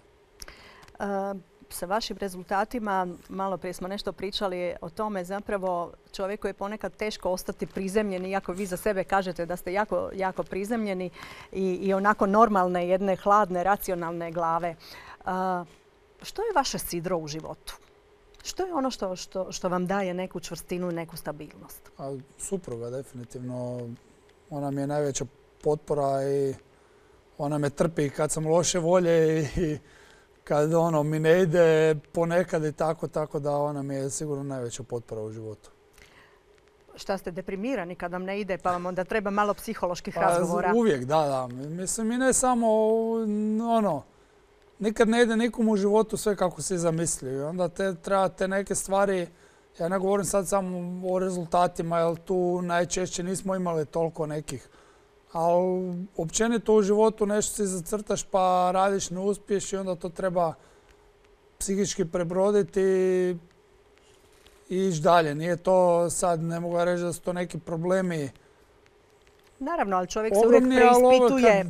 Sa vašim rezultatima, malo prije smo nešto pričali o tome, zapravo čovjeku je ponekad teško ostati prizemljen, iako vi za sebe kažete da ste jako, jako prizemljeni i onako normalne, jedne hladne, racionalne glave. Što je vaše sidro u životu? Što je ono što vam daje neku čvrstinu i neku stabilnost? Supruga, definitivno. Ona mi je najveća potpora i ona me trpi kad sam loše volje i kad mi ne ide ponekad i tako da ona mi je sigurno najveća potpora u životu. Šta ste deprimirani kad vam ne ide pa vam onda treba malo psiholoških razgovora? Uvijek, da. Mislim i ne samo nikad ne ide nikom u životu sve kako si zamislio. I onda treba te neke stvari, ja ne govorim sad samo o rezultatima jer tu najčešće nismo imali toliko nekih. Ali općenito u životu nešto si zacrtaš pa radiš, ne uspiješ i onda to treba psihički prebroditi i ići dalje. Nije to sad, ne mogu reći da su to neki problemi. Naravno, ali čovjek se uvijek preispituje.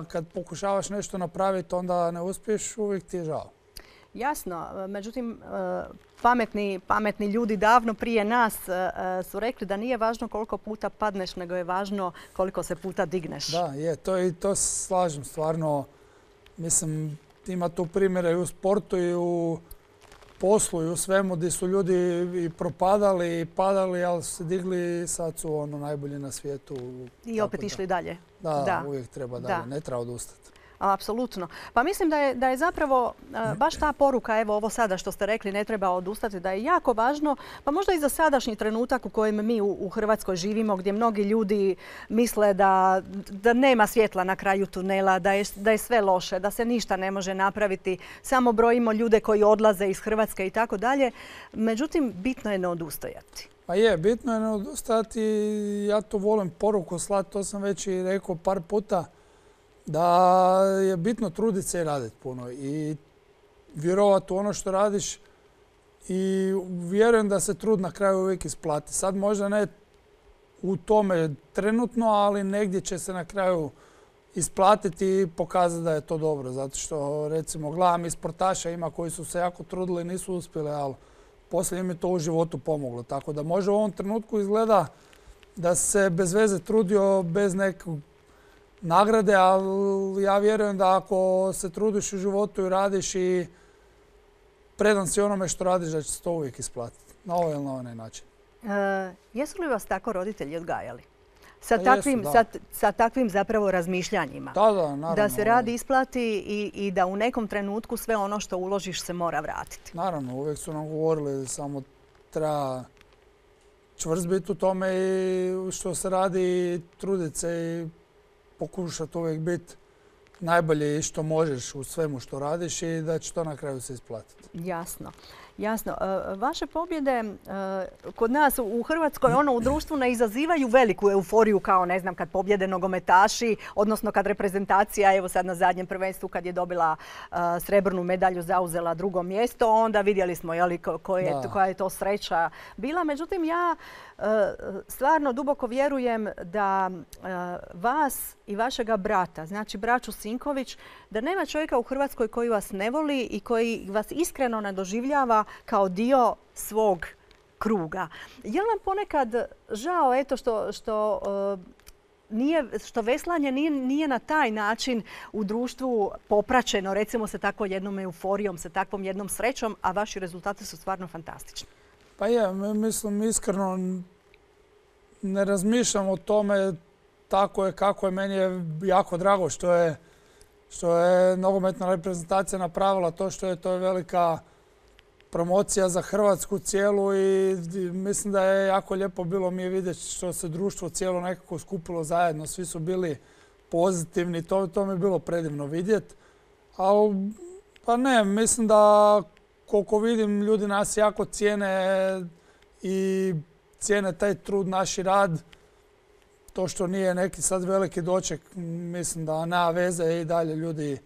Kad pokušavaš nešto napraviti onda ne uspiješ, uvijek ti je žao. Jasno, međutim, pametni ljudi davno prije nas su rekli da nije važno koliko puta padneš, nego je važno koliko se puta digneš. Da, je, to se slažem stvarno. Mislim, ima tu primjere i u sportu i u poslu i u svemu gdje su ljudi i propadali i padali, ali su se digli i sad su najbolji na svijetu. I opet išli dalje. Da, uvijek treba dalje, ne treba odustati. Apsolutno. Pa mislim da je zapravo baš ta poruka, evo ovo sada što ste rekli, ne treba odustati, da je jako važno, pa možda i za sadašnji trenutak u kojem mi u Hrvatskoj živimo, gdje mnogi ljudi misle da nema svjetla na kraju tunela, da je sve loše, da se ništa ne može napraviti, samo brojimo ljude koji odlaze iz Hrvatske i tako dalje. Međutim, bitno je ne odustajati. Pa je, bitno je ne odustajati. Ja to volim poruku slati, to sam već i rekao par puta. Da je bitno truditi se i raditi puno i vjerovati u ono što radiš i vjerujem da se trud na kraju uvijek isplati. Sad možda ne u tome trenutno, ali negdje će se na kraju isplatiti i pokazati da je to dobro. Zato što recimo gledam i sportaša ima koji su se jako trudili i nisu uspjeli, ali poslije im je to u životu pomoglo. Tako da može u ovom trenutku izgleda da se bez veze trudio bez nekog nagrade, ali ja vjerujem da ako se trudiš u životu i radiš i predan si onome što radiš, da će se to uvijek isplatiti. Na ovaj ili na onaj način. Jesu li vas tako roditelji odgajali? sa takvim zapravo razmišljanjima. Da, naravno. Da se rad isplati i da u nekom trenutku sve ono što uložiš se mora vratiti. Naravno, uvijek su nam govorili samo treba čvrst biti u tome i što se radi i truditi se i pokušati uvijek biti najbolje što možeš u svemu što radiš i da će to na kraju se isplatiti. Jasno. Vaše pobjede kod nas u Hrvatskoj u društvu ne izazivaju veliku euforiju kao ne znam kad pobjede nogometaši, odnosno kad reprezentacija, evo sad na zadnjem prvenstvu kad je dobila srebrnu medalju, zauzela drugo mjesto, onda vidjeli smo koja je to sreća bila. Međutim, ja stvarno duboko vjerujem da vas i vašega brata, znači braću Sinković, da nema čovjeka u Hrvatskoj koji vas ne voli i koji vas iskreno ne doživljava kao dio svog kruga. Je li vam ponekad žao što veslanje nije na taj način u društvu popraćeno, recimo sa takvom jednom euforijom, sa takvom jednom srećom, a vaši rezultati su stvarno fantastični? Pa mislim iskreno ne razmišljam o tome tako je kako je. Meni je jako drago što je nogometna reprezentacija napravila to što je. To je velika promocija za Hrvatsku cijelu i mislim da je jako lijepo bilo mi vidjeti što se društvo cijelo nekako skupilo zajedno. Svi su bili pozitivni, to mi je bilo predivno vidjeti. Ali pa ne, mislim da koliko vidim ljudi nas jako cijene i cijene taj trud, naš rad. To što nije neki sad veliki doček, mislim da nema veze i dalje ljudi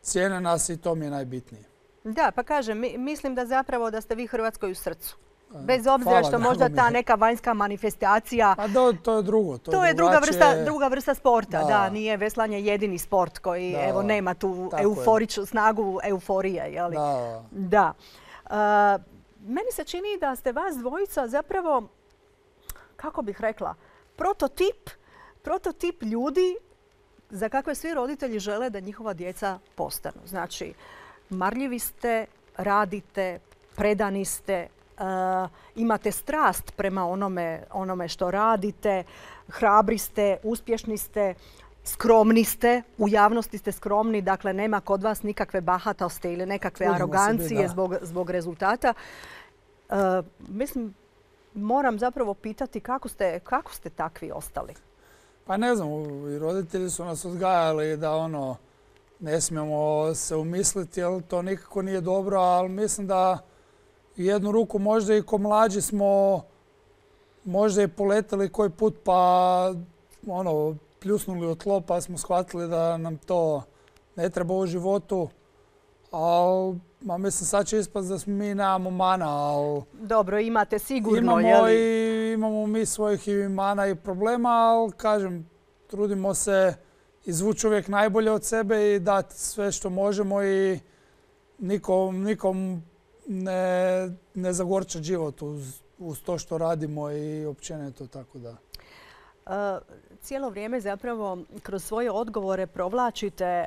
cijene nas i to mi je najbitnije. Da, pa kažem, mislim da zapravo da ste vi Hrvatskoj u srcu. Bez obzira što možda ta neka vanjska manifestacija... Pa to je drugo. To je druga vrsta sporta. Da, nije veslanje jedini sport koji nema tu snagu euforije. Da. Meni se čini da ste vas dvojica zapravo, kako bih rekla, prototip ljudi za kakve svi roditelji žele da njihova djeca postanu. Znači, marljivi ste, radite, predani ste, imate strast prema onome što radite, hrabri ste, uspješni ste, skromni ste, u javnosti ste skromni, dakle nema kod vas nikakve bahatosti ili nekakve arogancije zbog rezultata. Mislim, moram zapravo pitati kako ste takvi ostali? Pa ne znam, i roditelji su nas odgajali da ne smijemo se umisliti, jer to nikako nije dobro, ali mislim da jednu ruku možda i ko mlađi smo možda i poletali koji put pa pljusnuli od tlo pa smo shvatili da nam to ne treba u životu. Ali mislim sad će ispast da mi nemamo mana, ali... Dobro, imate sigurno, jel? Imamo mi svojih i mana i problema, ali kažem, trudimo se izvući uvijek najbolje od sebe i dati sve što možemo i nikom ne zagorčati život uz to što radimo i općenito tako da. Cijelo vrijeme zapravo kroz svoje odgovore provlačite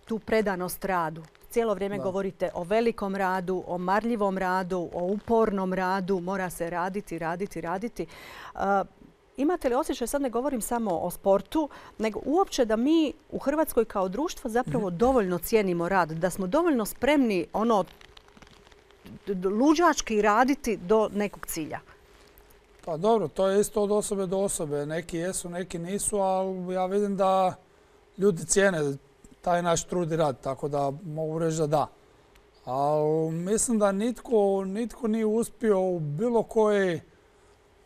tu predanost radu. Cijelo vrijeme govorite o velikom radu, o marljivom radu, o upornom radu. Mora se raditi. Imate li osjećaj, sad ne govorim samo o sportu, nego uopće da mi u Hrvatskoj kao društvo zapravo dovoljno cijenimo rad, da smo dovoljno spremni luđački raditi do nekog cilja? Pa dobro, to je isto od osobe do osobe. Neki jesu, neki nisu, ali ja vidim da ljudi cijene taj naš trud i rad, tako da mogu reći da da. Ali mislim da nitko nije uspio u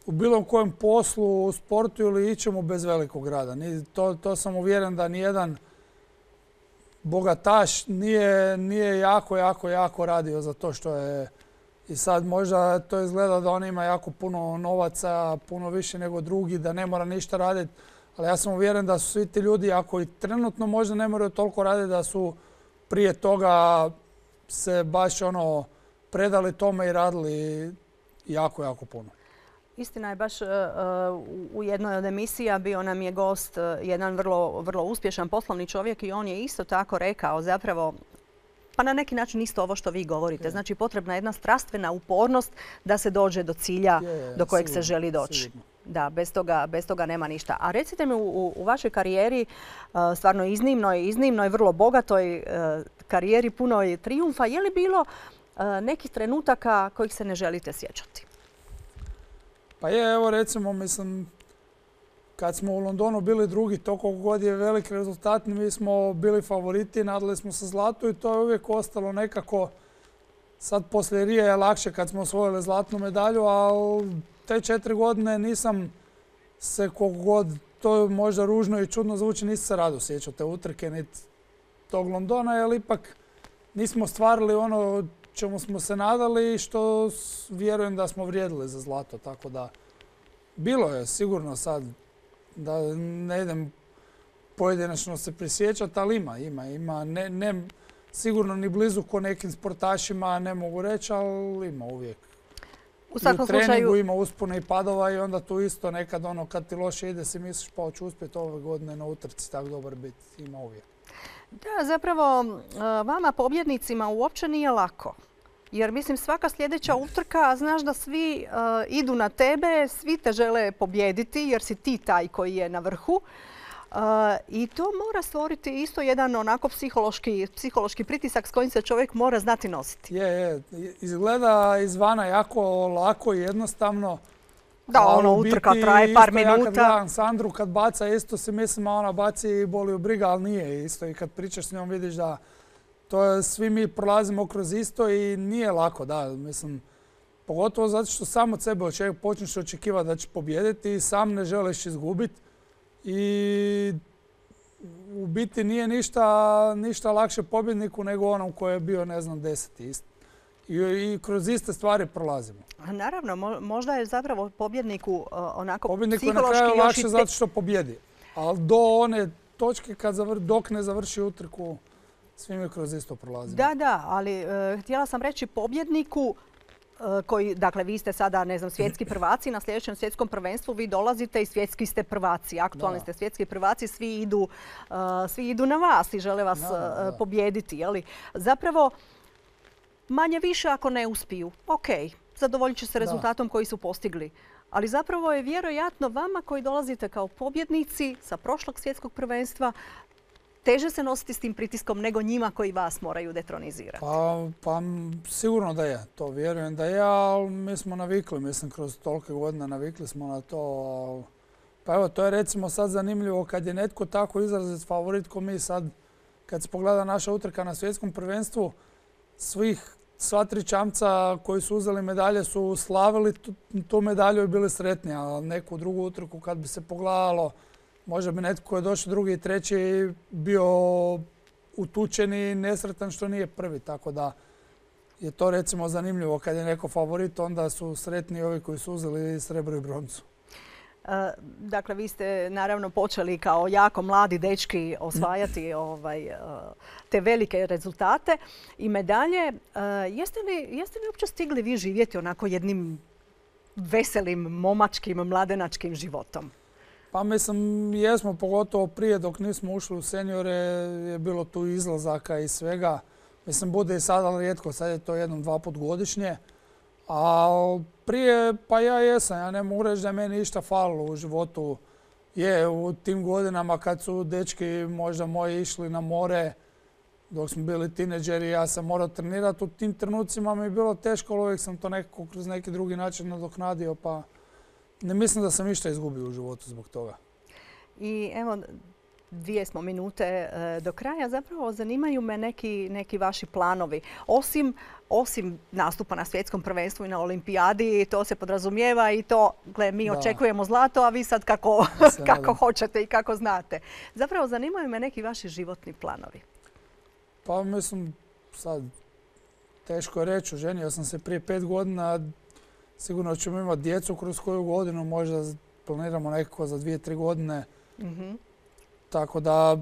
bilo kojem poslu, u sportu ili ičemu bez velikog rada. To sam uvjeren da nijedan bogataš nije jako radio za to što je. I sad možda to izgleda da on ima jako puno novaca, puno više nego drugi, da ne mora ništa raditi. Ali ja sam uvjeren da su svi ti ljudi, ako i trenutno možda ne moraju toliko raditi, da su prije toga se baš predali tome i radili jako puno. Istina je, baš u jednoj od emisija bio nam je gost jedan vrlo uspješan poslovni čovjek i on je isto tako rekao zapravo, pa na neki način isto ovo što vi govorite. Znači potrebna je jedna strastvena upornost da se dođe do cilja do kojeg se želi doći. Da, bez toga nema ništa. A recite mi u vašoj karijeri, stvarno iznimnoj, vrlo bogatoj karijeri, punoj trijumfa, je li bilo nekih trenutaka kojih se ne želite sjećati? Pa je, evo recimo, mislim, kad smo u Londonu bili drugi, toliko god je velik rezultat, mi smo bili favoriti, nadali smo se zlatu i to je uvijek ostalo nekako. Sad poslije Rije je lakše kad smo osvojili zlatnu medalju, ali te 4 godine nisam se, koliko god to možda ružno i čudno zvuči, nisam se rado sjećao te utrke niti tog Londona, jer ipak nismo stvarili ono čemu smo se nadali i što vjerujem da smo vrijedili za zlato. Tako da bilo je sigurno sad, da ne idem pojedinačno se prisjećati, ali ima. Ne sigurno ni blizu ko nekim sportašima, ne mogu reći, ali ima uvijek. U svakom slučaju... treningu ima uspone i padova i onda tu isto nekad ono kad ti loše ide si misliš pa hoću uspjeti ove godine na utrci tako dobar biti. Ima uvijek. Da, zapravo vama pobjednicima uopće nije lako. Jer mislim svaka sljedeća utrka, znaš da svi idu na tebe, svi te žele pobijediti jer si ti taj koji je na vrhu. I to mora stvoriti isto jedan onako psihološki pritisak s kojim se čovjek mora znati nositi. Je. Izgleda izvana jako lako i jednostavno. Da, ono utrka traje par minuta. Ja kad gledam Sandru kad baca, isto si mislim, a ona baci i boli u briga, ali nije isto. I kad pričaš s njom vidiš da svi mi prolazimo kroz isto i nije lako, da, mislim. Pogotovo zato što sam od sebe počneš očekivati da će pobijediti i sam ne želiš izgubiti. I u biti nije ništa lakše pobjedniku nego onom koji je bio, ne znam, 10. I kroz iste stvari prolazimo. Naravno, možda je zapravo pobjedniku onako pobjedniku psihološki na kraju lakše zato što pobjedi. Ali do one točke dok ne završi utrku, svi mi kroz isto prolazimo. Da, ali htjela sam reći pobjedniku koji, dakle, vi ste sada, ne znam, svjetski prvaci, na sljedećem svjetskom prvenstvu vi dolazite i svjetski ste prvaci, aktualni ste svjetski prvaci, svi idu na vas i žele vas pobijediti. Zapravo, manje više ako ne uspiju, ok, zadovoljit će se rezultatom koji su postigli. Ali zapravo je vjerojatno vama koji dolazite kao pobjednici sa prošlog svjetskog prvenstva teže se nositi s tim pritiskom nego njima koji vas moraju detronizirati. Pa sigurno da je. To vjerujem da je, ali mi smo navikli. Mislim, kroz tolike godine navikli smo na to. Pa evo, to je recimo sad zanimljivo kad je netko tako izrazit favorit ko mi sad, kad se pogleda naša utrka na svjetskom prvenstvu, sva 3 čamca koji su uzeli medalje su slavili tu medalju i bili sretni, a neku drugu utrku kad bi se pogledalo, možda bi netko koji je došao drugi i treći bio utučen i nesretan što nije prvi. Tako da je to recimo zanimljivo. Kad je neko favorit, onda su sretni ovi koji su uzeli srebro i broncu. Dakle, vi ste naravno počeli kao jako mladi dečki osvajati te velike rezultate i medalje. Jeste li uopće stigli vi živjeti onako jednim veselim, momačkim, mladenačkim životom? Pa mislim, jesmo, pogotovo prije dok nismo ušli u seniore je bilo tu izlazaka i svega. Mislim, bude i sad, ali rijetko, sad je to 1-2 put godišnje. A prije, pa ja jesam, ja ne mogu reći da je meni išta falilo u životu. Je, u tim godinama kad su dečki možda moji išli na more, dok smo bili tineđeri, ja sam morao trenirati. U tim trenucima mi je bilo teško, ali uvijek sam to nekako kroz neki drugi način nadoknadio, pa ne mislim da sam išta izgubio u životu zbog toga. I evo, 2 smo minute do kraja. Zapravo zanimaju me neki vaši planovi. Osim nastupa na svjetskom prvenstvu i na olimpijadi, to se podrazumijeva i to, gle, mi očekujemo zlato, a vi sad kako hoćete i kako znate. Zapravo zanimaju me neki vaši životni planovi. Pa mislim, sad teško je reći, oženio sam se prije 5 godina, sigurno ćemo imati djecu kroz koju godinu, možda planiramo nekako za 2-3 godine. Tako da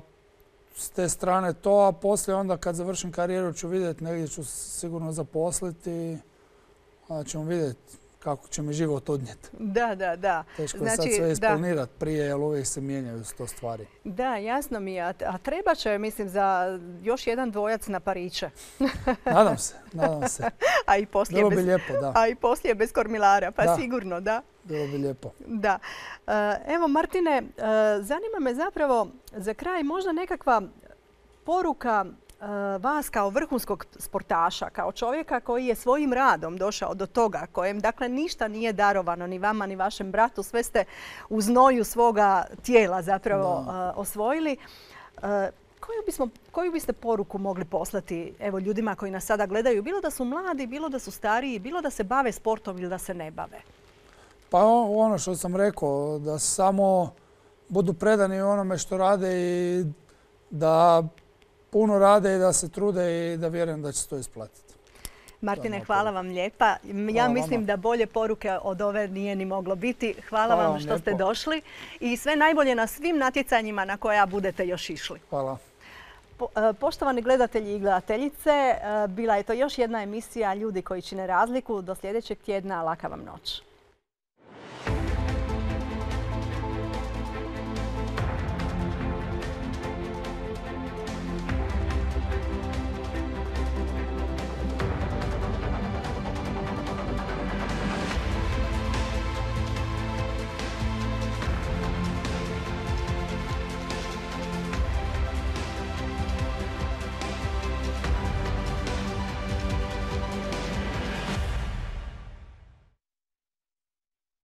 s te strane to, a poslije onda kad završim karijeru ću vidjeti, negdje ću sigurno zaposliti, onda ćemo vidjeti kako će mi život odnijeti. Da. Teško je sad sve isplanirati prije, jer uvijek se mijenjaju to stvari. Da, jasno mi je. A treba će, mislim, za još jedan dvojac na pariće. Nadam se. Bilo bi lijepo, da. A i poslije bez kormilara, pa sigurno, da. Bilo bi lijepo. Da. Evo, Martine, zanima me zapravo za kraj možda nekakva poruka vas kao vrhunskog sportaša, kao čovjeka koji je svojim radom došao do toga, kojem dakle ništa nije darovano ni vama ni vašem bratu, sve ste u znoju svoga tijela zapravo osvojili. Koju biste poruku mogli poslati evo, ljudima koji nas sada gledaju, bilo da su mladi, bilo da su stariji, bilo da se bave sportom ili da se ne bave? Pa ono što sam rekao, da samo budu predani onome što rade i da puno rade i da se trude i da vjerujem da će se to isplatiti. Martine, hvala vam lijepa. Ja mislim da bolje poruke od ove nije ni moglo biti. Hvala vam što ste došli i sve najbolje na svim natjecanjima na koja budete još išli. Hvala. Poštovani gledatelji i gledateljice, bila je to još jedna emisija Ljudi koji čine razliku. Do sljedećeg tjedna, laka vam noć.